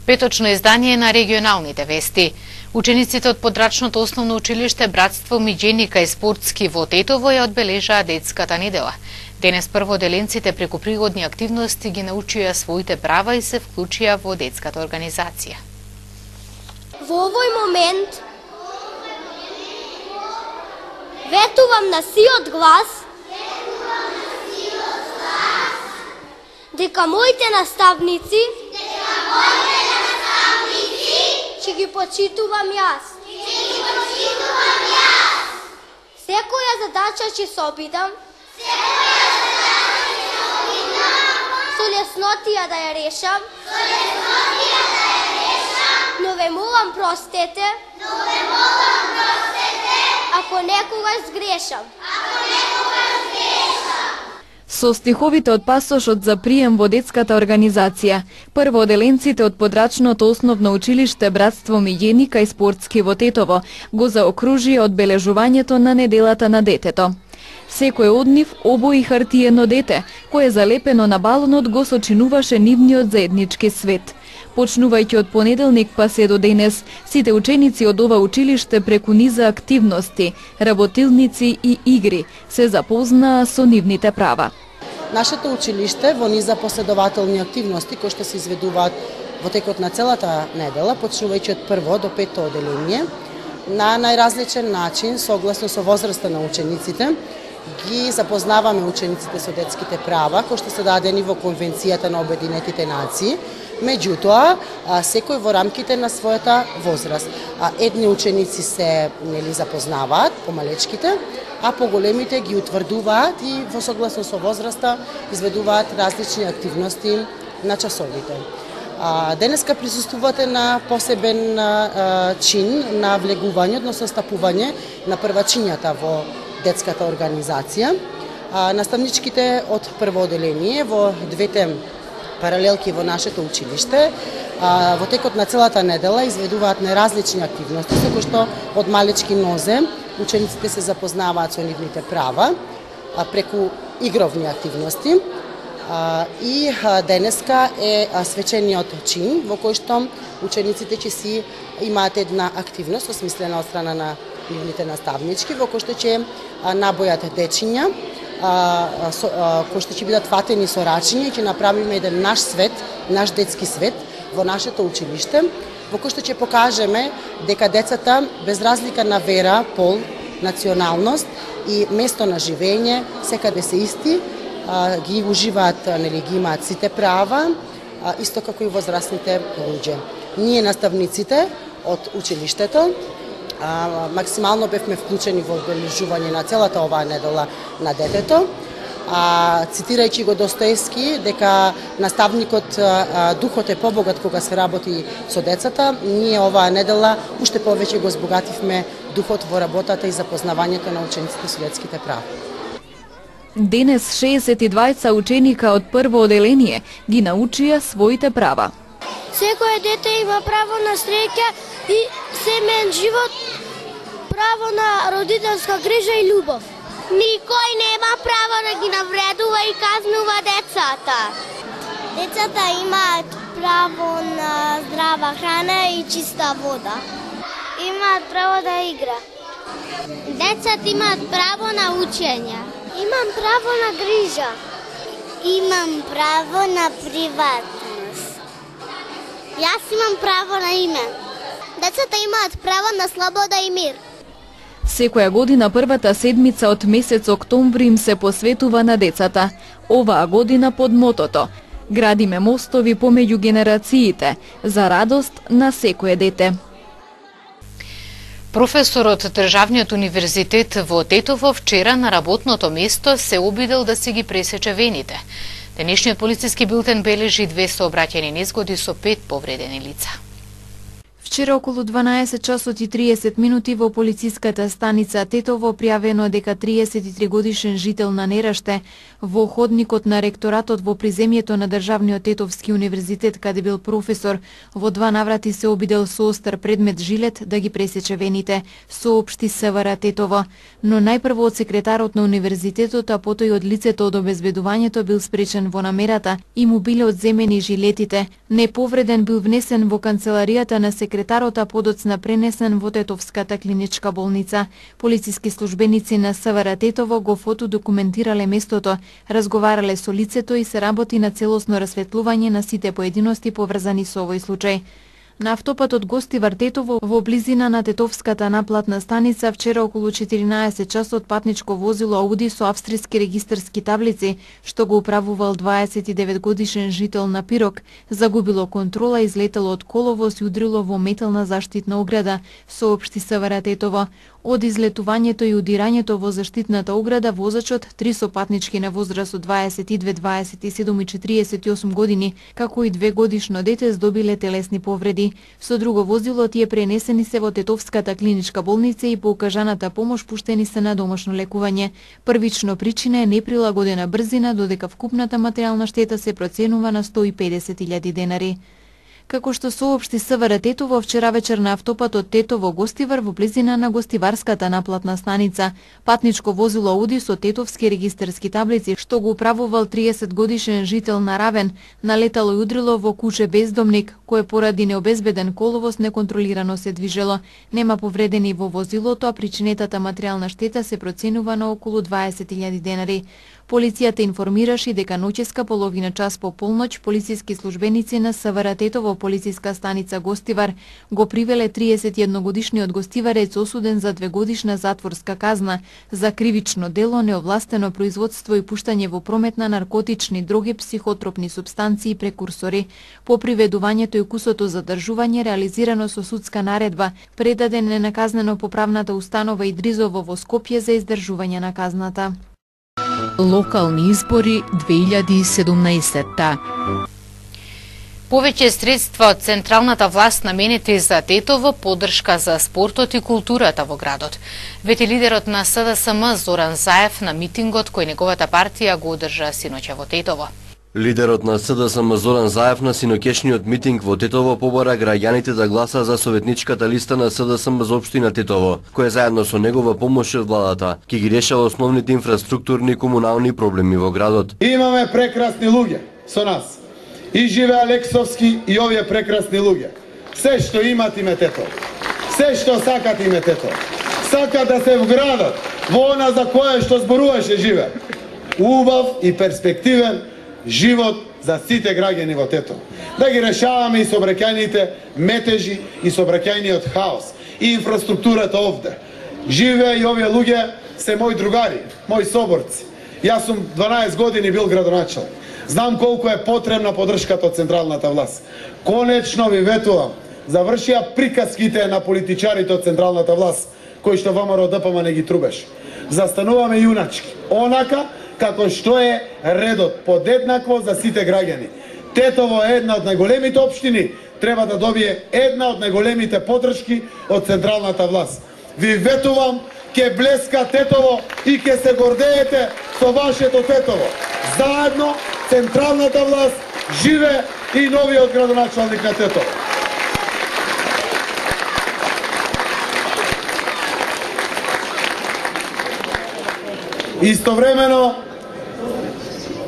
Петочно издание на регионалните вести. Учениците од подрачното основно училиште Братство Миѓеника и спортски во Тетово ја одбележаа детската недела. Денес прводеленците преку пригодни активности ги научија своите права и се вклучија во детската организација. Во овој момент ветувам на сиот глас дека моите наставници ќе ги почитувам јас. Секоја задача ќе се обидам со леснотија да ја решам, но ве молам простете ако некогаш сгрешам. Со стиховите од пасошот за прием во детската организација, прводеленците од подрачното основно училиште Братство Миѓеника и спортски во Тетово го заокружија одбележувањето на неделата на детето. Секој од нив обои хартиено дете, кое залепено на балонот го сочинуваше нивниот заеднички свет. Почнувајќи од понеделник па се до денес, сите ученици од ова училиште преку низа активности, работилници и игри се запознаа со нивните права. Нашето училиште во низа последователни активности кои што се изведуваат во текот на целата недела, почнувајќи од прво до пето оделение, на најразличен начин, согласно со возраста на учениците, ги запознаваме учениците со детските права, кои што се дадени во Конвенцијата на Обединетите нации, меѓутоа, секој во рамките на својата возраст. Едни ученици се запознаваат, помалечките, а поголемите ги утврдуваат и во согласно со возраста изведуваат различни активности на часовите. Денеска присуствувате на посебен чин на влегување, односно стапување на првачињата во детската организација. Наставничките од прво оделение во двете паралелки во нашето училиште во текот на целата недела изведуваат неразлични активности со кои што од малечки нозе учениците се запознаваат со нивните права преку игровни активности. И денеска е свечениот чин во кој што учениците ќе си имаат една активност осмислена од страна на нивните наставнички во кој што ќе набојат дечиња кои што ќе бидат фатени со рачиња и ќе направиме еден наш свет, наш детски свет во нашето училиште, во кој што ќе покажеме дека децата без разлика на вера, пол, националност и место на живење секаде се исти, ги уживаат, ги имаат сите права, исто како и возрастните луѓе. Ние наставниците од училиштето максимално бевме вклучени во одбележување на целата оваа недела на детето, цитирајќи го Достоевски дека наставникот духот е побогат кога се работи со децата, ние оваа недела уште повеќе го збогативме духот во работата и запознавањето на учениците со детските права. Денес 62 ученика од прво оделение ги научија своите права. Секој дете има право на среќа и семеен живот, право на родителска грижа и љубов. Никој нема право да ги навредува и казнува децата. Децата имаат право на здрава храна и чиста вода. Имаат право да игра. Децата имаат право на учење. Имам право на грижа. Имам право на приватност. Јас имам право на име. Децата имаат право на слобода и мир. Секоја година првата седмица од месец октомври им се посветува на децата. Оваа година под мотото "Градиме мостови помеѓу генерациите за радост на секое дете". Професорот Државниот универзитет во Тетово вчера на работното место се обидел да си ги пресече вените. Денешниот полициски билтен бележи 2 сообраќајни незгоди со 5 повредени лица. Вчера околу 12 часот и 30 минути во полициската станица Тетово пријавено дека 33 годишен жител на Нераште во ходникот на ректоратот во приземјето на Државниот Тетовски универзитет, каде бил професор, во 2 наврати се обидел со остар предмет жилет да ги пресече вените, соопшти СВР Тетово. Но најпрво од секретарот на универзитетот, а потоа и од лицето од обезбедувањето бил спречен во намерата и му биле одземени жилетите. Неповреден бил внесен во канцеларијата на секретарот, а подоцна пренесен во Тетовската клиничка болница. Полициски службеници на СВР Тетово го фотодокументирале местото, разговарале со лицето и се работи на целосно расветлување на сите поединости поврзани со овој случај. На автопатот Гостивар Тетово во близина на Тетовската наплатна станица вчера околу 14 часот патничко возило Ауди со австријски регистарски таблици, што го управувал 29 годишен жител на Пирок, загубило контрола и излетело од коловоз и удрило во метална заштитна ограда, соопшти СВР Тетово. Од излетувањето и удирањето во заштитната ограда возачот, 3 сопатнички на возраст од 22, 27 и 48 години, како и 2 годишно дете здобиле телесни повреди. Со друго возило тие пренесени се во Тетовската клиничка болница и по укажаната помош пуштени се на домашно лекување. Првично причина е неприлагодена брзина, додека вкупната материјална штета се проценува на 150.000 денари. Како што соопшти СВР Тетово, вчера вечер на автопатот Тетово-Гостивар во близина на Гостиварската наплатна станица, патничко возило Ауди со тетовски регистарски таблици, што го управувал 30 годишен жител на Равен, налетало и удрило во куче бездомник, кое поради необезбеден коловоз неконтролирано се движело. Нема повредени во возилото, а причинетата материјална штета се проценува на околу 20.000 денари. Полицијата информираше дека ноќеска половина час по полноќ полициски службеници на СВР Тетово полициска станица Гостивар го привеле 31 годишниот гостиварец осуден за 2 годишна затворска казна за кривично дело, неовластено производство и пуштање во промет на наркотични дроги, психотропни супстанции и прекурсори. По приведувањето и кусото задржување реализирано со судска наредба, предаден е на казнено-поправната установа Идризово во Скопје за издржување на казната. Локални избори 2017. Повеќе средства од централната власт наменети за Тетово, поддршка за спортот и културата во градот. Вети лидерот на СДСМ Зоран Заев на митингот кој неговата партија го одржа синоќа во Тетово. Лидерот на СДСМ Зоран Заев на синоќешниот митинг во Тетово побара граѓаните да гласа за советничката листа на СДСМ за општина Тетово, која заедно со негова помош од владата ќе ги решава основните инфраструктурни и комунални проблеми во градот. Имаме прекрасни луѓе со нас. И живе Алексовски и овие прекрасни луѓе. Се што имат име Тетово. Се што сакат име Тетово. Сакат да се вградат во она за кое што зборуваше живе. Убав и перспективен живот за сите граѓани во Тетово. Да ги решаваме и сообраќајните метежи и сообраќајниот хаос и инфраструктурата овде. Живе и овие луѓе се мои другари, мои соборци. Јас сум 12 години бил градоначелник. Знам колку е потребна поддршката од централната власт. Конечно ви ветувам, завршија приказките на политичарите од централната власт, кои што ВМРО ДПМ не ги трубеше. Застануваме јуначки, онака како што е редот, подеднакво за сите граѓани. Тетово е една од најголемите општини, треба да добие една од најголемите поддршки од централната власт. Ви ветувам, ке блеска Тетово и ке се гордеете со вашето Тетово. Заедно, централната власт, живе и новиот градоначалник на Тетово. Истовремено,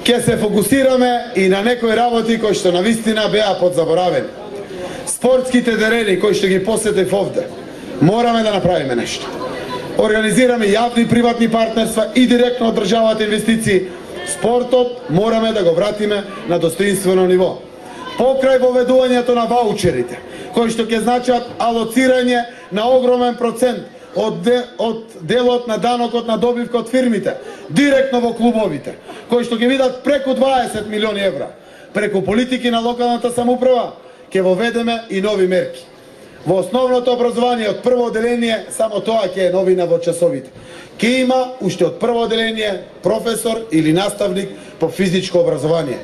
ќе се фокусираме и на некои работи кои што навистина беа подзаборавени. Спортските терени кои што ги посетив овде, мораме да направиме нешто. Организираме јавни и приватни партнерства и директно од државата инвестиции. Спортот мораме да го вратиме на достоинствено ниво. Покрај воведувањето на ваучерите, кои што ќе значат алоцирање на огромен процент од делот на данокот на добивка од фирмите, директно во клубовите, кои што ќе видат преку 20 милиони евра. Преку политики на локалната самоуправа ќе воведеме и нови мерки. Во основното образование од прво оделение, само тоа ќе е новина во часовите. Ќе има уште од прво оделение професор или наставник по физичко образование.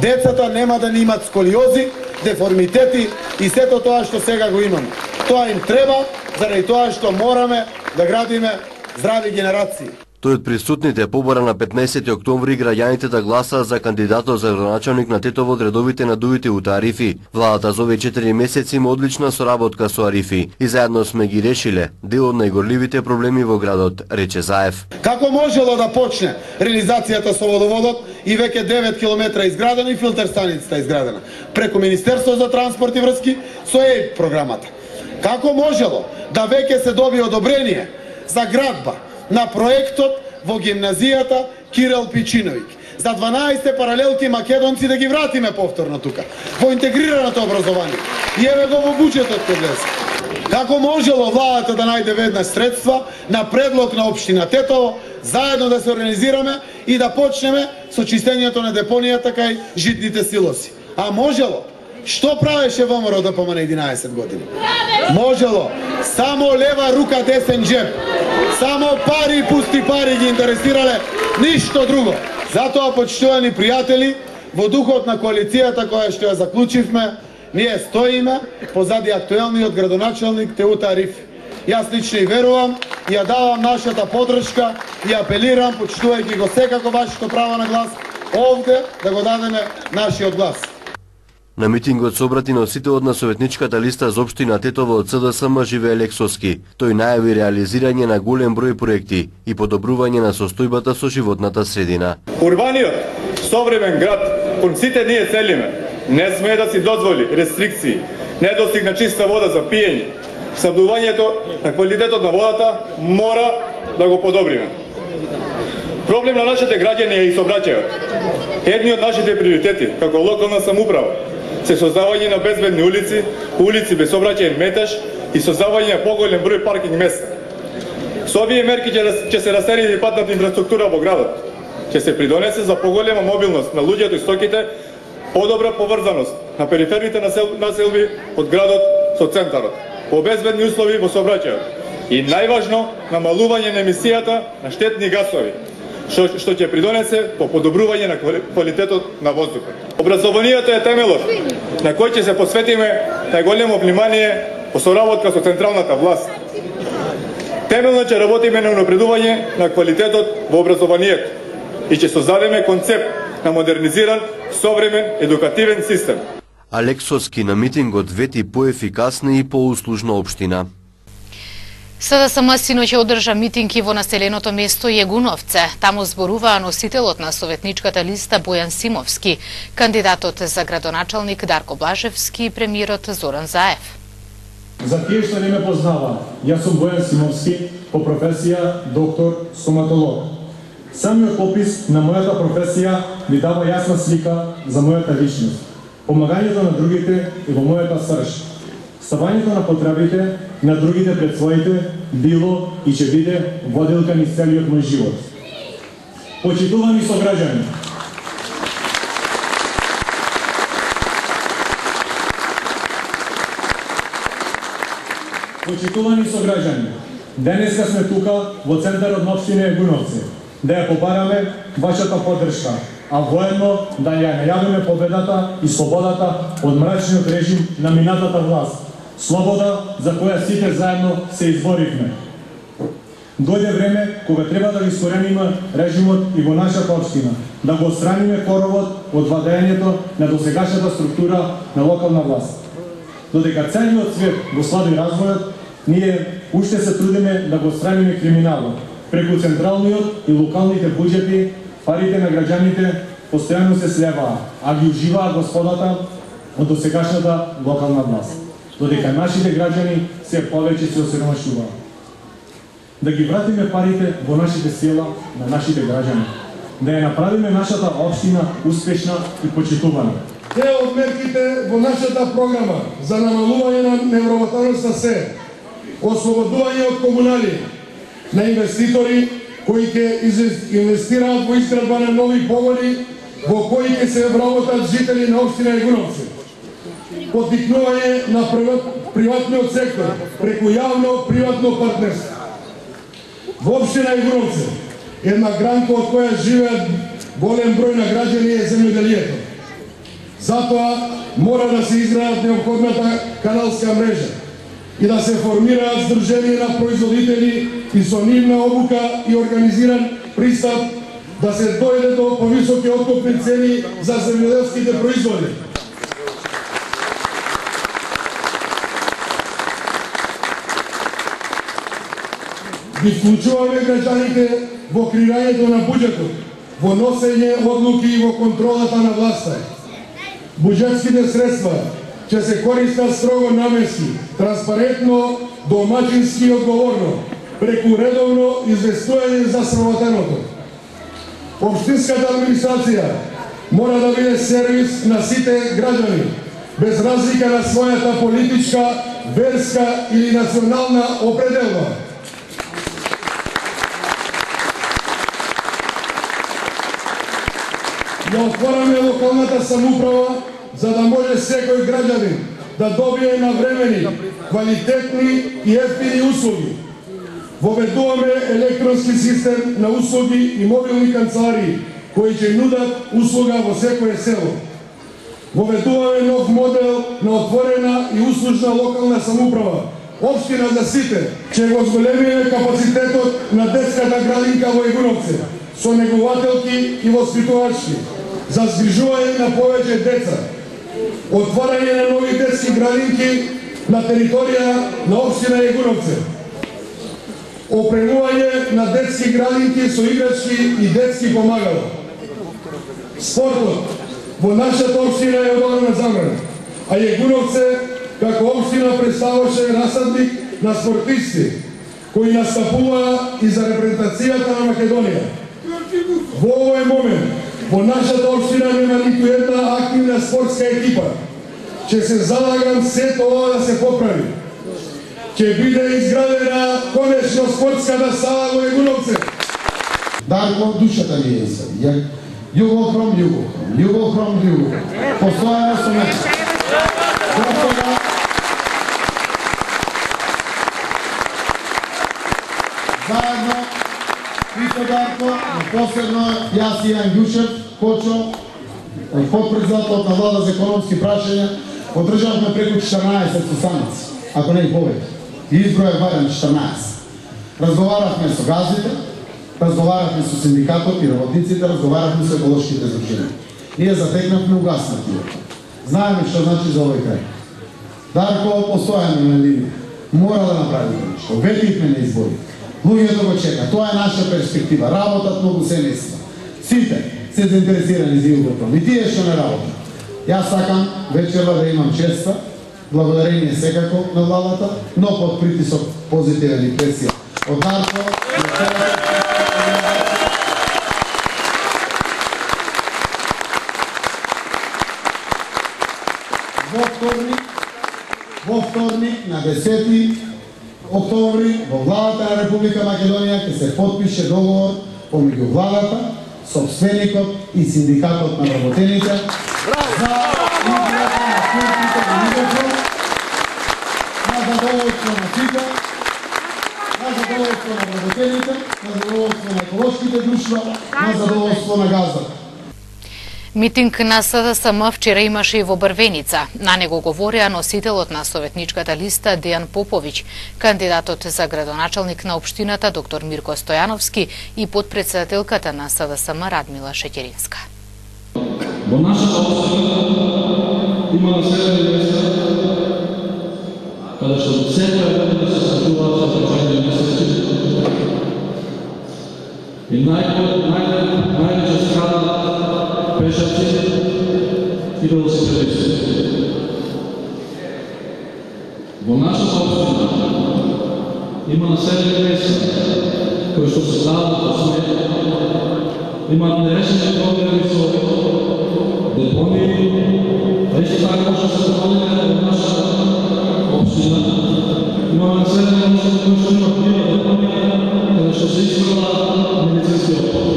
Децата нема да ни имат сколиози, деформитети и сето тоа што сега го имаме. Тоа им треба, заради тоа што мораме да градиме здрави генерации. Тој од присутните побора на 15 октомври граѓаните да гласаат за кандидатот за градоначалник на Тетово од редовите на дувите УТА Арифи. Владата за овие 4 месеци има одлична соработка со Арифи и заедно сме ги решиле дел од најгорливите проблеми во градот, рече Заев. Како можело да почне реализацијата со водоводот и веќе 9 километра изградено и филтер станицата изградена преку Министерство за транспорт и врски со ЕИП програмата? Како можело да веќе се доби одобрение за градба на проектот во гимназијата Кирил Пичиновик за 12 паралелки македонци да ги вратиме повторно тука во интегрираното образование и еве го во буџетот кod влез. Како можело владата да најде веднаш средства на предлог на општина Тетово заедно да се организираме и да почнеме со чистењето на депонијата кај житните силоси? А можело? Што правеше ВМРО да помане 11 години? Можело само лева рука десен джеб. Само пари и пусти пари ги интересирале, ништо друго. Затоа, почитувани пријатели, во духот на коалицијата која што ја заклучивме, ние стоиме позади актуелниот градоначалник Теута Арифи. Јас лично и верувам, и ја давам нашата подршка и апелирам, почитувајќи го секако вашето право на глас, овде да го дадеме нашиот глас. На митингот се обрати носителот на советничката листа за општина Тетово од СДСМ Живее Лексовски. Тој најави реализирање на голем број проекти и подобрување на состојбата со животната средина. Урбаниот современ град кон сите ние целиме не смее да си дозволи рестрикции, недостиг на чиста вода за пиење. Создувањето на квалитетот на водата мора да го подобриме. Проблем на нашите граѓани е и сообраќајот. Едни од нашите приоритети како локална самоуправа се создавање на безбедни улици, улици без сообраќајен метеж и создавање на поголем број паркинг места. Со овие мерки ќе се растери патната инфраструктура во градот. Ќе се придонесе за поголема мобилност на луѓето и стоките, подобра поврзаност на периферните населби од градот со центарот, по безбедни услови во сообраќајот и најважно намалување на емисијата на штетни гасови, што ќе придонесе по подобрување на квалитетот на воздухот. Образованието е темелот на кој ќе се посветиме најголемо внимание по соработка со централната власт. Темелно ќе работиме на унапредување на квалитетот во образованието и ќе создадеме концепт на модернизиран, современ, едукативен систем. Алексовски на митингот вети поефикасна и поуслужна општина. СДСМ синоќ одржа митинг и во населеното место Јегуновце. Таму зборуваа носителот на советничката листа Бојан Симовски, кандидатот за градоначалник Дарко Блажевски и премиерот Зоран Заев. За тие што не ме познава, јас сум Бојан Симовски, по професија доктор стоматолог. Самиот опис на мојата професија ми дава јасна слика за мојата личност, помагањето на другите и во мојата срж, ставањето на потребите на другите пред своите било и ќе биде водилка низ целиот мој живот. Почитувани сограѓани, денеска сме тука во центарот на општина Јегуновце да ја побараме вашата поддршка, а воедно да ја најавиме победата и слободата од мрачниот режим на минатата власт. Слобода за која сите заедно се изборивме. Дојде време кога треба да ги искорениме режимот и во нашата општина, да го отстраниме коровот од владењето на досегашната структура на локална власт. Додека целиот свет го слаби развојот, ние уште се трудиме да го отстраниме криминалот. Преку централниот и локалните буџети, парите на граѓаните постојано се слеваа, а ги уживаа господата од досегашната локална власт. Додека нашите граѓани се повеќе се осиромашуваат. Да ги вратиме парите во нашите села на нашите граѓани. Да ја направиме нашата општина успешна и почитувана. Дел од мерките во нашата програма за намалување на невработаноста се ослободување од комунали на инвеститори кои ќе инвестираат во изградба на нови погони во кои ќе се вработат жители на општина Јегуновце. Поттикнување на приватниот сектор преку јавно-приватно партнерство. Во општина Јегуновце, една гранка од која живеат голем број на граѓани е земјоделието. Затоа мора да се изградат неопходната каналска мрежа и да се формираат здруженија на производители и со нивна обука и организиран пристап да се дојде до повисоки откупни цени за земјоделските производи. Ги вклучуваме граѓаните во креирањето на буџетот, во носење одлуки и во контролата на власта. Буџетските средства ќе се користат строго наменски, транспарентно, домаќински и одговорно, преку редовно известување за сработеното. Општинската администрација мора да биде сервис на сите граѓани, без разлика на својата политичка, верска или национална определба. Да отвораме локалната самоуправа, за да може секој граѓанин да добие навремени, квалитетни и ефтини услуги. Воведуваме електронски систем на услуги и мобилни канцеларии, кои ќе нудат услуга во секое село. Воведуваме нов модел на отворена и услужна локална самоуправа, општина за сите, ќе го зголемиме капацитетот на детската градинка во Егуновци, со негователки и воспитувачки, за згрижување на повеќе деца, отварање на нови детски градинки на територија на општина Егуновци, опремување на детски градинки со играчки и детски помагала. Спортот во нашата општина е одобрена забрана, а Егуновци како општина представуваше расадник на спортисти кои настапуваа и за репрезентацијата на Македонија. Во овој момент во нашата општина нема ниту една активна спортска екипа. Ќе се залагам сето ова да се поправи. Ќе биде изградена конечно спортската сала во Егуновци. Дарко, душата ми е се. Југохром, југохром. Постојано со мене. Господа, заедно, Христо Дарко, последно јас и Јан Ѓушев, Кочо, подпредседател на влада за економски прашања, одржавме преку 14 состаници, ако не и повеќе. И избројав барем 14. Разговаравме со газите, разговаравме со синдикатот и работниците, разговаравме со еколошките здруженија. Ние затекнавме угаснатиот. Знаеме што значи за овој крај. Дарко, постојано на линија. Мора да направи нешто. Ветивме на избори. Луѓето го чека. Тоа е наша перспектива. Работат многу семејства. Сите се заинтересирани за Југопром. И тие што не работат. Јас сакам вечерва да имам честа, благодарение секако на владата, но под притисок позитивен и пресија. Од Дарко, во вторник на 10 октомври во владата на Република Македонија ќе се потпише договор помеѓу владата, сопственикот и синдикатот на работените за изградба на спортните градинки на задоволство на сите, на задоволство на работените, на задоволство на еколошките друштва, на задоволство на газдата. Митинг на СДСМ вчера имаше и во Брвеница. На него говореа носителот на советничката листа Дејан Поповиќ, кандидатот за градоначалник на општината доктор Мирко Стојановски и подпредседателката на СДСМ Радмила Шеќеринска. Во нашата општина има населени места каде што секоја година се стачуваат со прашање месеци и највеќе страдат пешаци и велосипедисти. Во нашата општина има населени места кои што се стават од смет, имаат нерешени проблеми со депонии, а исто така може да се допълнително во нашата општина. Имаме населени места кои што имаат нива депонија, каде што се испрала медицински отпад.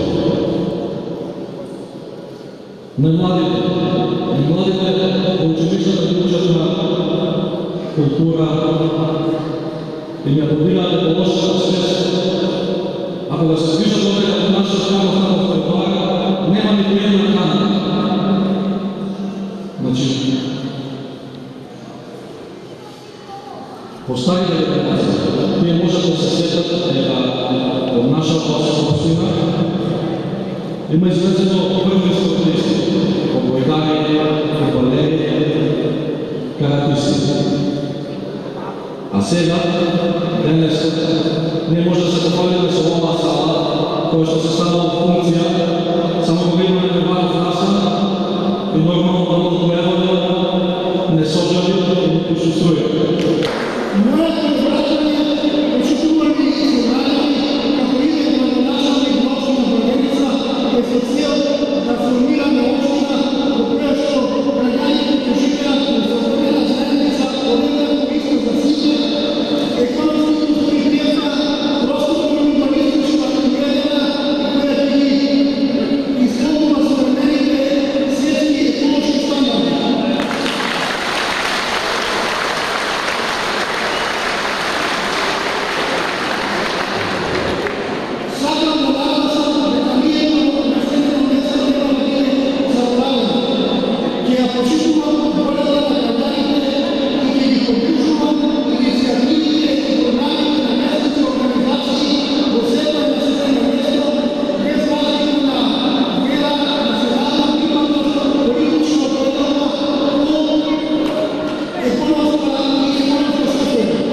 На младите во училиштата ги учат на култура и не подигнаат еколошката свест. Ако да се движат овде како наша страна, нема Има извршено прво училиште по Бојкари, фудбалери, каратисти. А сега, денес, не може да се похвалиме со оваа сала, која што се станала функција, само кога имаме небаров настан и нормално да одговараме, не сожали и не почувствуја. Моето враќање почитувани и собрани како идеја на началник на општина Бргеница е со цел да формираме општина во која што граѓаните ќе живеат во соверена заедница, одредена исто за сите, економски просперитета, просторно урбанистичка уредена која ќе ги исполнува современите светски еколошки стандарди. Сакам да нагlasам дека ние како представители нема да биде заборавени. Ќе ја почитувам волјата на граѓаните и ќе ги поддржувам иницијативите и програмите на местните организации во светот на светено место, без разлика на вера, национална припадност, политичко определено, пол, економска и економска система.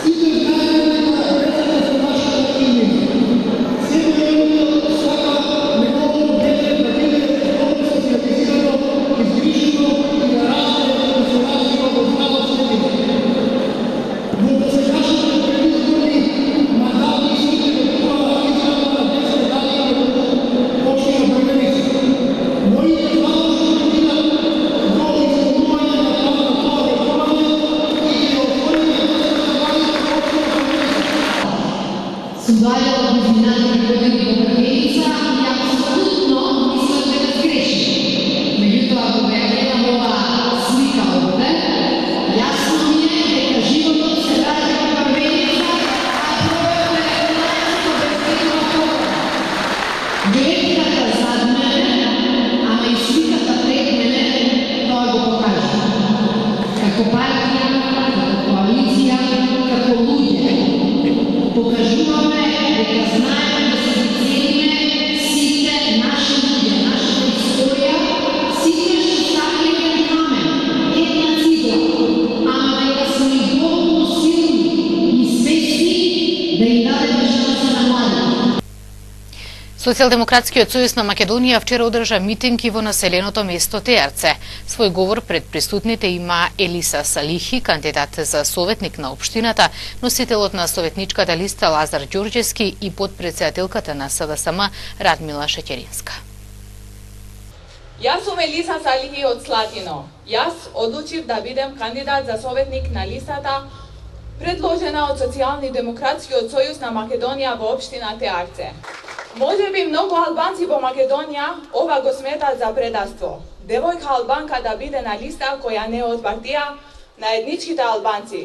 Сите знаеме дека децата се нашата имена. Секој родител сака неговото дете да биде добро социјализирано, изгрижено и да расте и се развива во здрава средина. Во досегашните предизборни мандати сите ветуваа израда на детска градина во општина Бргеница. Моите задолжи ќе бидат до исполнување на тоа ветување и ќе отвориме детската градина во општина Бргеница. Судалјава обвинување колеги во Бргеница и апсолутно мислам дека сгреши. Меѓутоа, кога ја гледам оваа слика овде, јасно ми е дека животот се даде во Бргеница, а бројот на регулацијата безбедно толку. Гледката зад мене, ама и сликата пред мене, тоа го покажа. Како партија, како коалиција, како луѓе. Покажуваме дека знаеме да се цениме сите наши луѓе, нашата историја, сите што ставиле кон камен, една цигла, ама дека сме и доволно силни и свесни да им дадеме шанса на младите. Социјалдемократскиот сојуз на Македонија вчера одржа митинг и во населеното место Теарце. Свој говор пред присутните има Елиса Салихи, кандидат за советник на општината, носителот на советничката листа Лазар Ѓорѓевски и подпредседателката на СДСМ Радмила Шеќеринска. Јас сум Елиса Салихи од Слатино. Јас одлучив да бидем кандидат за советник на листата предложена од Социјални-демократскиот сојуз на Македонија во општина Теарце. Може би многу албанци во Македонија ова го сметат за предавство. Девојка албанка да биде на листа која не е од партија на етничките албанци.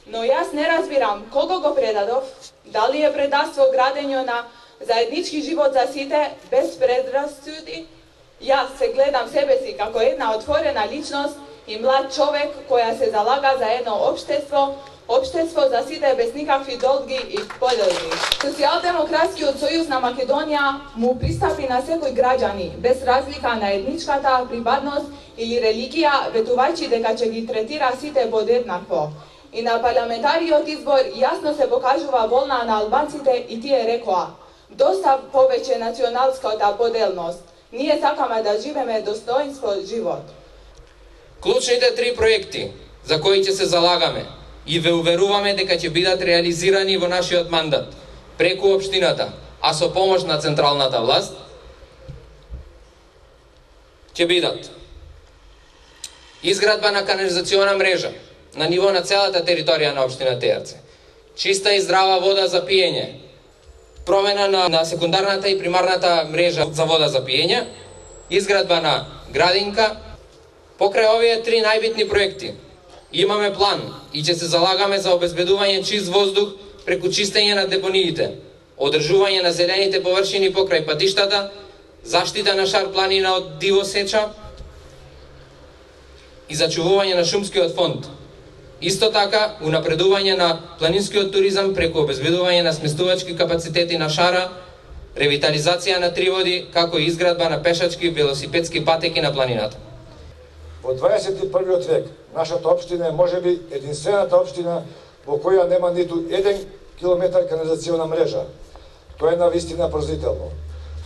Но јас не разбирам кого го предадов, дали е предавство градење на заеднички живот за сите без предрасуди. Јас се гледам себе си како една отворена личност и млад човек која се залага за едно општество за сите без никакви долги и поделги. Социјалдемократскиот сојуз на Македонија му пристапи на секој граѓани, без разлика на етничката припадност или религија, ветувајќи дека ќе ги третира сите подеднакво. И на парламентариот избор јасно се покажува волна на албанците и тие рекоа: доста повеќе националската поделност. Ние сакаме да живееме достоинство живот. Клучните 3 проекти за кои ќе се залагаме и ве уверуваме дека ќе бидат реализирани во нашиот мандат преку општината, а со помош на централната власт, ќе бидат изградба на канализациона мрежа на ниво на целата територија на општина Теарце, чиста и здрава вода за пиење, промена на секундарната и примарната мрежа за вода за пиење, изградба на градинка. Покрај овие 3 најбитни проекти имаме план и ќе се залагаме за обезбедување чист воздух преку чистење на депониите, одржување на зелените површини покрај патиштата, заштита на шар планина од дивосеча и зачувување на шумскиот фонд. Исто така, унапредување на планинскиот туризам преку обезбедување на сместувачки капацитети на шара, ревитализација на Триводи, како и изградба на пешачки велосипедски патеки на планината. Во 21. век, нашата општина е можеби единствената општина во која нема ниту 1 километар канализациона мрежа. Тоа е навистина поразително.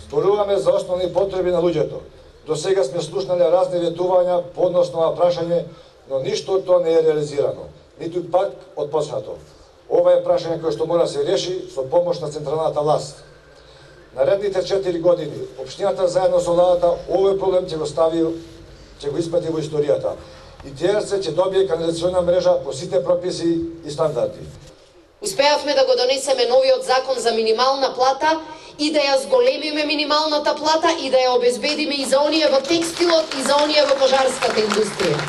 Зборуваме за основни потреби на луѓето. До сега сме слушнале разни ветувања по односно прашање, но ништо од тоа не е реализирано, ниту пак отпочнато. Ова е прашање кое што мора се реши со помош на централната власт. Наредните 4 години, општината заедно со владата овој проблем ќе го испрати во историјата. И ТРЦ ќе добие канализациона мрежа по сите прописи и стандарди. Успеавме да го донесеме новиот закон за минимална плата и да ја зголемиме минималната плата и да ја обезбедиме и за оние во текстилот и за оние во кожарската индустрија.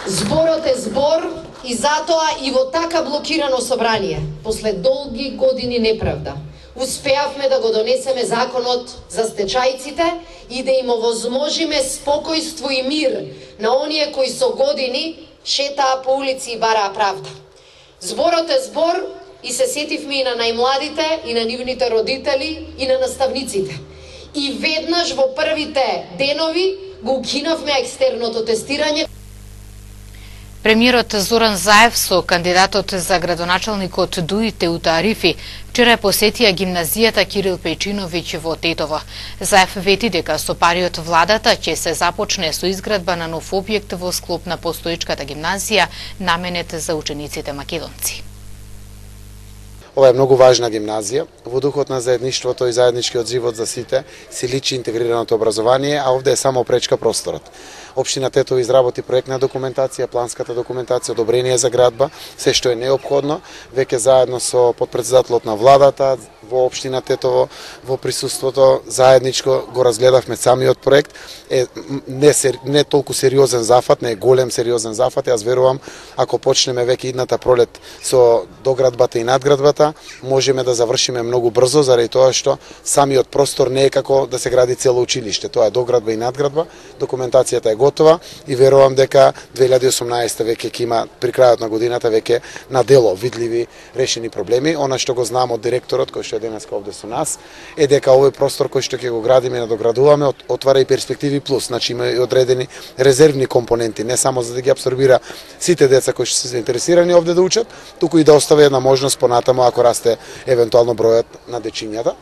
Зборот е збор и затоа и во така блокирано собрание, после долги години неправда, успеавме да го донесеме законот за стечајците и да им овозможиме спокојство и мир на оние кои со години шетаа по улици и бараа правда. Зборот е збор и се сетивме и на најмладите, и на нивните родители, и на наставниците. И веднаш во првите денови го укинавме екстерното тестирање. Премиерот Зоран Заев со кандидатот за градоначалник од ДУИ Теута Арифи вчера посетија гимназијата Кирил Печиновиќ во Тетово. Заев вети дека со пари од владата ќе се започне со изградба на нов објект во склоп на постоечката гимназија наменет за учениците македонци. Ова е многу важна гимназија. Во духот на заедништвото и заедничкиот живот за сите се личи интегрираното образование, а овде е само пречка просторот. Општина Тетово изработи проектна документација, планската документација, одобрение за градба, се што е неопходно, веќе заедно со потпредседателот на владата во општина Тетово, во присуството заедничко го разгледавме самиот проект. Не толку сериозен зафат, не е голем сериозен зафат. Јас верувам, ако почнеме веќе идната пролет со доградбата и надградбата, можеме да завршиме многу брзо, заради тоа што самиот простор не е како да се гради цело училиште. Тоа е доградба и надградба. Документацијата е готова и верувам дека 2018 веќе ќе има при крајот на годината веќе на дело видливи решени проблеми. Она што го знам од директорот кој што е денеска овде со нас е дека овој простор кој што ќе го градиме и надоградуваме отвара и перспективи плюс, значи има и одредени резервни компоненти, не само за да ги апсорбира сите деца кои што се заинтересирани овде да учат, туку и да остави една можност понатаму ако расте евентуално бројот на дечињата.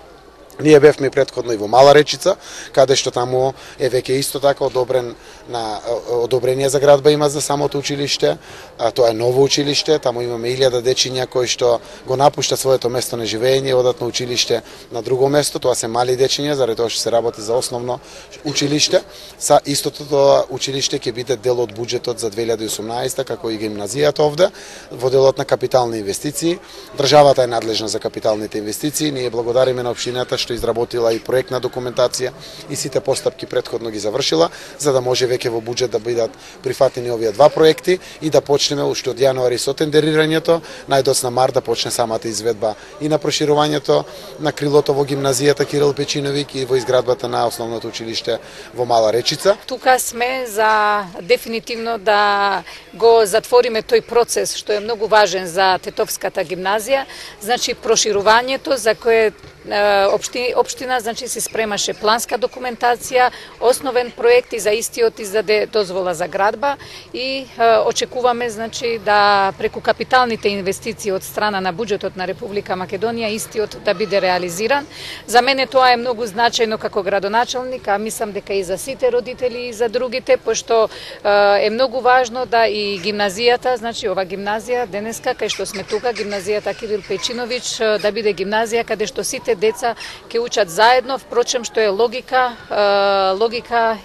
Ние бевме претходно и во Мала Речица, каде што таму е веќе исто така одобрение за градба има за самото училиште, а тоа е ново училиште, таму имаме 1000 дечиња кои што го напуштат своето место на живење и одат на училиште на друго место, тоа се мали дечиња, заради тоа што се работи за основно училиште. Са истото тоа училиште ќе биде дел од буџетот за 2018 како и гимназијата овде, во делот на капитални инвестиции. Државата е надлежна за капиталните инвестиции, ние благодариме на општината што изработила и проектна документација и сите постапки претходно ги завршила, за да може веќе во буџет да бидат прифатени овие два проекти и да почнеме уште од јануари со тендерирањето, најдоцна март да почне самата изведба и на проширувањето на крилото во гимназијата Кирил Печиновиќ и во изградбата на основното училиште во Мала Речица. Тука сме за дефинитивно да го затвориме тој процес што е многу важен за Тетовската гимназија, значи проширувањето за кое општина значи се спремаше планска документација, основен проект и за истиот издаде дозвола за градба и очекуваме значи да преку капиталните инвестиции од страна на буџетот на Република Македонија истиот да биде реализиран. За мене тоа е многу значајно како градоначалник, а мислам дека и за сите родители и за другите, пошто е многу важно да и гимназијата, значи ова гимназија денеска кај што сме тука, гимназијата Кирил Печиновиќ да биде гимназија каде што сите деца ќе учат заедно, впрочем што е логика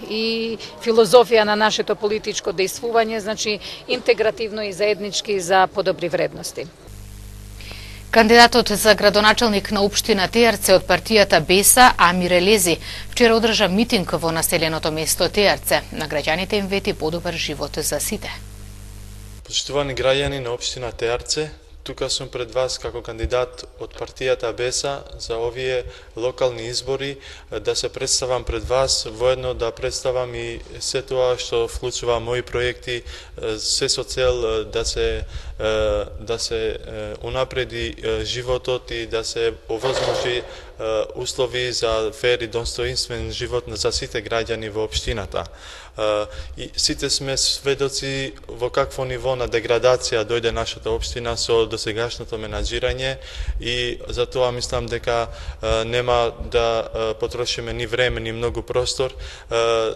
и филозофија на нашето политичко дејствување, значи интегративно и заеднички за подобри вредности. Кандидатот за градоначалник на општина Тејарце од партијата Беса, Амир Елези, вчера одржа митинг во населеното место Тејарце. На граѓаните им вети подобар живот за сите. Почитувани граѓани на општина Тејарце, тука сум пред вас како кандидат од партијата БЕСА за овие локални избори, да се представам пред вас, воедно да представам и се тоа што вклучува мои проекти, се со цел да се унапреди животот и да се овозможи услови за фер и достоинствен живот за сите граѓани во општината. И сите сме сведоци во какво ниво на деградација дојде нашата општина со досегашното менаџирање и затоа мислам дека нема да потрошиме ни време ни многу простор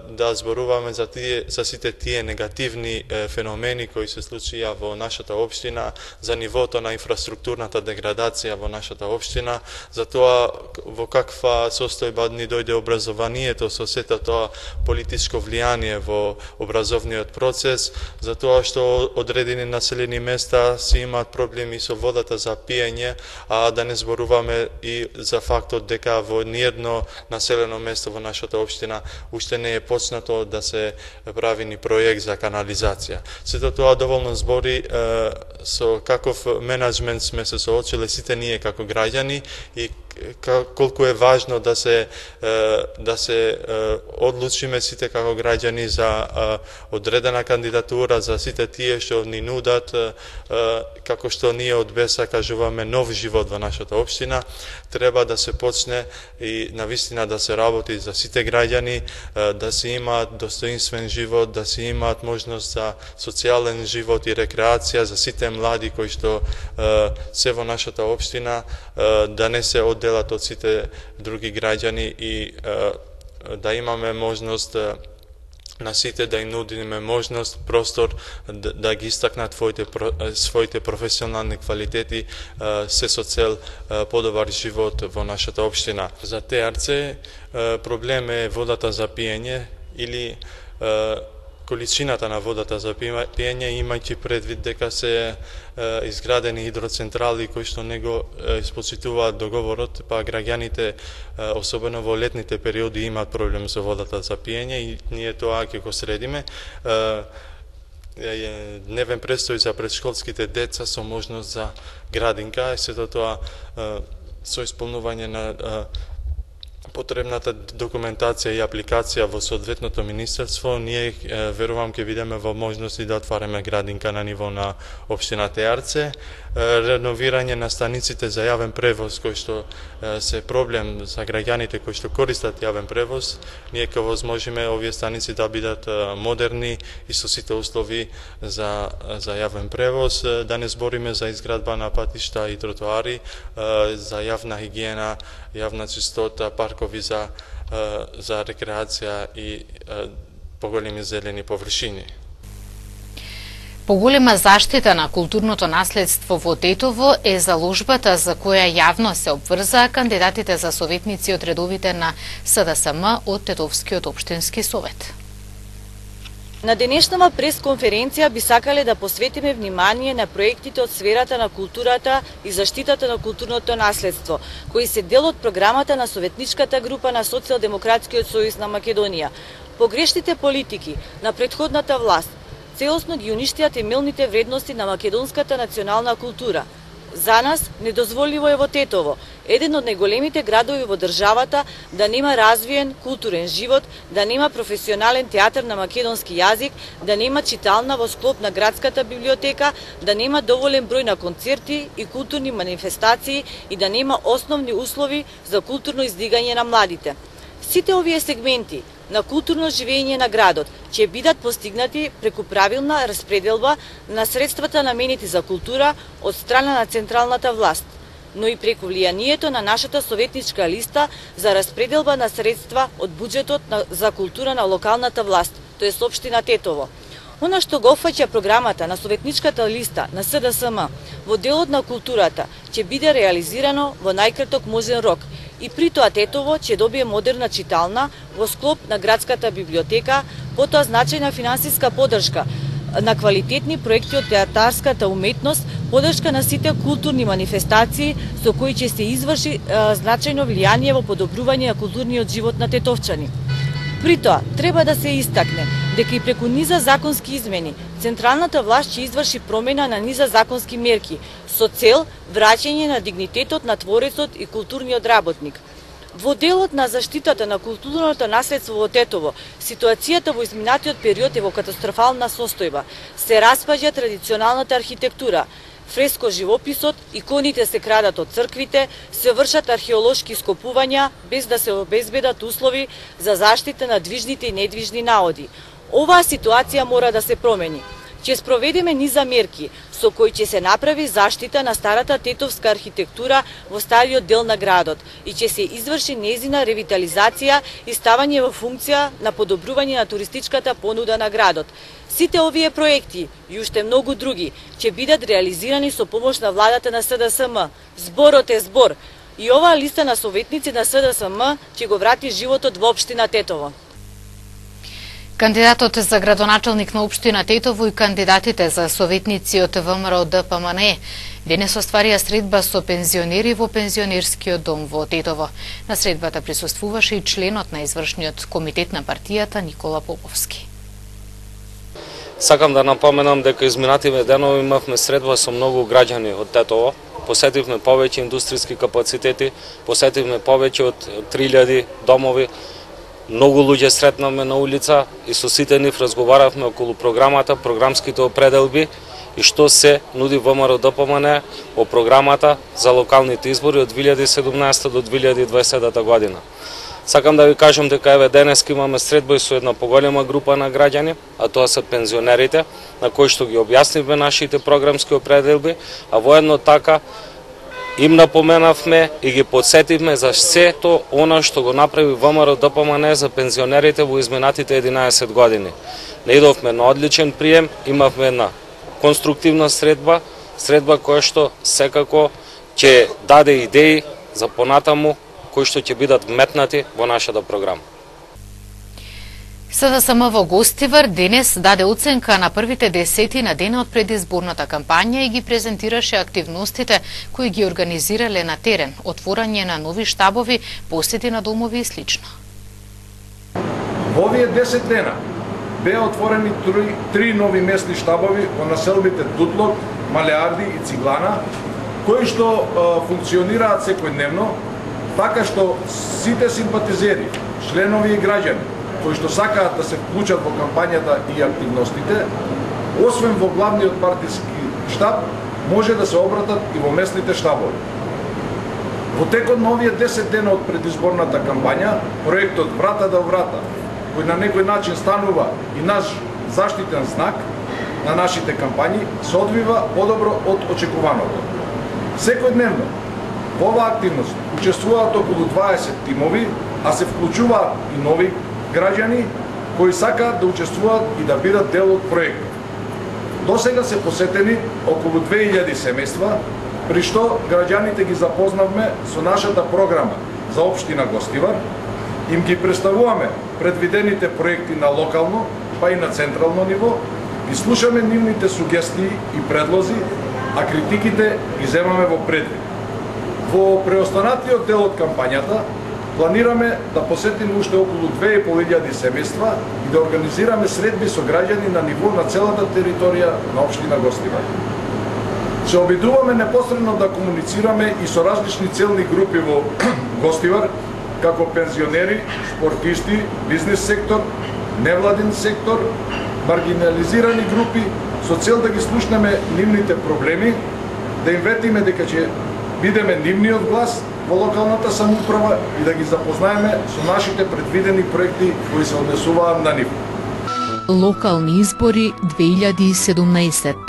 да зборуваме за сите тие негативни феномени кои се случија во нашата општина, за нивото на инфраструктурната деградација во нашата општина, за тоа во каква состојба ни дојде образованието со сето тоа политичко влијание во образовниот процес, за тоа што одредени населени места си имаат проблеми со водата за пиење, а да не зборуваме и за фактот дека во ниедно населено место во нашата општина уште не е почнато да се прави ни проект за канализација. Сето тоа доволно збори со каков менеджмент сме се соочиле сите ние како граѓани и колку е важно да се одлучиме сите како граѓани за одредена кандидатура, за сите тие што ни нудат, како што ние од БЕСА кажуваме нов живот во нашата општина, треба да се почне и навистина да се работи за сите граѓани, да се имаат достоинствен живот, да се имаат можност за социјален живот и рекреација за сите млади кои што се во нашата општина, да не се одделат од сите други граѓани и да имаме можност на сите да им нудиме можност, простор да ги истакнат своите професионални квалитети се со цел подобар живот во нашата општина. За Теарце проблем е водата за пиење или количината на водата за пиење, имајќи предвид дека се изградени хидроцентрали кои што не го исполнуваат договорот, па граѓаните, особено во летните периоди, имаат проблем со водата за пиење и ние тоа ќе го средиме. Дневен престој за предшколските деца со можност за градинка и сето тоа со исполнување на потребната документација и апликација во соодветното министерство, ние верувам ќе видиме во можности да отвараме градинка на ниво на општина Теарце, реновирање на станиците за јавен превоз кои што се проблем за граѓаните кои што користат јавен превоз, ние ќе возможиме овие станици да бидат модерни и со сите услови за јавен превоз, да не збориме за изградба на патишта и тротоари, за јавна хигиена, јавна чистота, паркови за рекреација и поголеми зелени површини. Поголема заштита на културното наследство во Тетово е заложбата за која јавно се обврзаа кандидатите за советници од редовите на СДСМ од Тетовскиот општински совет. На денешнава пресконференција би сакале да посветиме внимание на проектите од сферата на културата и заштитата на културното наследство, кои се дел од програмата на советничката група на Социјалдемократскиот сојуз на Македонија. Погрешните политики на претходната власт целосно ги уништија темелните вредности на македонската национална култура. За нас недозволиво е во Тетово, еден од најголемите градови во државата, да нема развиен културен живот, да нема професионален театар на македонски јазик, да нема читална во склоп на градската библиотека, да нема доволен број на концерти и културни манифестации и да нема основни услови за културно издигање на младите. Сите овие сегменти на културно живење на градот ќе бидат постигнати преку правилна распределба на средствата наменети за култура од страна на централната власт, но и преку влијанието на нашата советничка листа за распределба на средства од буџетот за култура на локалната власт, тоест општина Тетово. Она што го опфаќа програмата на советничката листа на СДСМ во делот на културата ќе биде реализирано во најкраток можен рок и при тоа Тетово ќе добие модерна читална во склоп на градската библиотека, потоа значајна финансиска поддршка на квалитетни проекти од театарската уметност, поддршка на сите културни манифестации со кои ќе се изврши значајно влијание во подобрување на културниот живот на тетовчани. При тоа, треба да се истакне дека и преку низа законски измени, централната власт ќе изврши промена на низа законски мерки со цел враќање на дигнитетот на творецот и културниот работник. Во делот на заштитата на културното наследство во Тетово, ситуацијата во изминатиот период е во катастрофална состојба. Се распаѓа традиционалната архитектура, фреско живописот, иконите се крадат од црквите, се вршат археолошки скопувања без да се обезбедат услови за заштита на движните и недвижни наоди. Оваа ситуација мора да се промени. Ќе спроведеме низа мерки со кои ќе се направи заштита на старата тетовска архитектура во стариот дел на градот и ќе се изврши нејзина ревитализација и ставање во функција на подобрување на туристичката понуда на градот. Сите овие проекти и уште многу други ќе бидат реализирани со помош на владата на СДСМ. Зборот е збор и оваа листа на советници на СДСМ ќе го врати животот во општина Тетово. Кандидатот за градоначалник на општина Тетово и кандидатите за советници од ВМРО ДПМН денес остварија средба со пензионери во пензионерскиот дом во Тетово. На средбата присуствуваше и членот на извршниот комитет на партијата Никола Поповски. Сакам да напоменам дека изминативе денови имавме средба со многу граѓани од Тетово. Посетивме повеќе индустријски капацитети, посетивме повеќе од 3000 домови. Многу луѓе сретнавме на улица и со сите нив разговаравме околу програмата, програмските определби и што се нуди ВМРО ДПМН во програмата за локалните избори од 2017 до 2020 година. Сакам да ви кажам дека еве денеска имаме средба и со една поголема група на граѓани, а тоа се пензионерите, на кои што ги објаснивме нашите програмски определби, а воедно така им напоменавме и ги подсетивме за сето она што го направи ВМРО ДПМН за пензионерите во изминатите 11 години. Наидовме на одличен прием, имавме една конструктивна средба која што секако ќе даде идеи за понатаму кои што ќе бидат вметнати во нашата програма. СДСМ во Гостивар денес даде оценка на првите 10 на денот пред изборната кампања и ги презентираше активностите кои ги организирале на терен, отворање на нови штабови, посети на домови и слично. Во овие 10 дена беа отворени 3 нови местни штабови во населбите Дутлок, Малеарди и Циглана, кои што функционираат секојдневно, така што сите симпатизери, членови и граѓани кои што сакаат да се вклучат во кампањата и активностите, освен во главниот партиски штаб, може да се обратат и во местните штабови. Во текот на овие 10 дена од предизборната кампања, проектот Врата до врата, кој на некој начин станува и наш заштитен знак на нашите кампањи, се одвива подобро од очекуваното. Секојдневно во оваа активност учествуваат околу 20 тимови, а се вклучуваат и нови граѓани кои сакаат да учествуваат и да бидат дел од проектот. До сега се посетени околу 2000 семејства, при што граѓаните ги запознавме со нашата програма за општина Гостивар, им ги представуваме предвидените проекти на локално, па и на централно ниво, ги слушаме нивните сугестии и предлози, а критиките ги земаме во предвид. Во преостанатиот дел од кампањата планираме да посетиме уште околу 2500 семејства и да организираме средби со граѓани на ниво на целата територија на општина Гостивар. Се обидуваме непосредно да комуницираме и со различни целни групи во Гостивар, како пензионери, спортисти, бизнес сектор, невладин сектор, маргинализирани групи, со цел да ги слушнеме нивните проблеми, да им ветиме дека ќе бидеме нивниот глас во локалната самоуправа и да ги запознаеме со нашите предвидени проекти кои се однесуваат на нив. Локални избори 2017.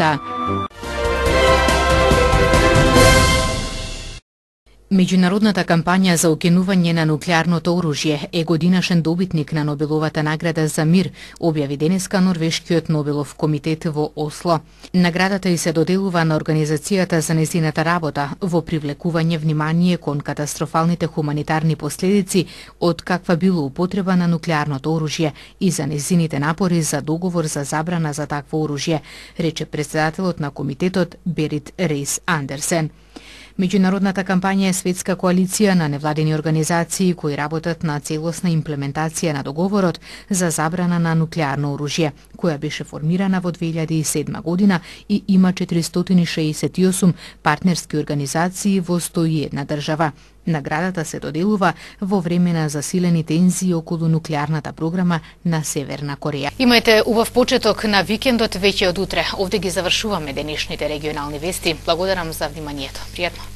Меѓународната кампања за укинување на нуклеарното оружје е годинашен добитник на Нобеловата награда за мир, објави денеска Норвешкиот Нобелов комитет во Осло. Наградата и се доделува на организацијата за нејзината работа во привлекување внимание кон катастрофалните хуманитарни последици од каква било употреба на нуклеарното оружје и за нејзините напори за договор за забрана за такво оружје, рече претседателот на комитетот Берит Рейс Андерсен. Меѓународната кампања е светска коалиција на невладени организации кои работат на целосна имплементација на договорот за забрана на нуклеарно оружје, која беше формирана во 2007 година и има 468 партнерски организации во 101 држава. Наградата се доделува во време на засилени тензии околу нуклеарната програма на Северна Кореја. Имајте убав почеток на викендот веќе од утре. Овде ги завршуваме денешните регионални вести. Благодарам за вниманието. Пријатно.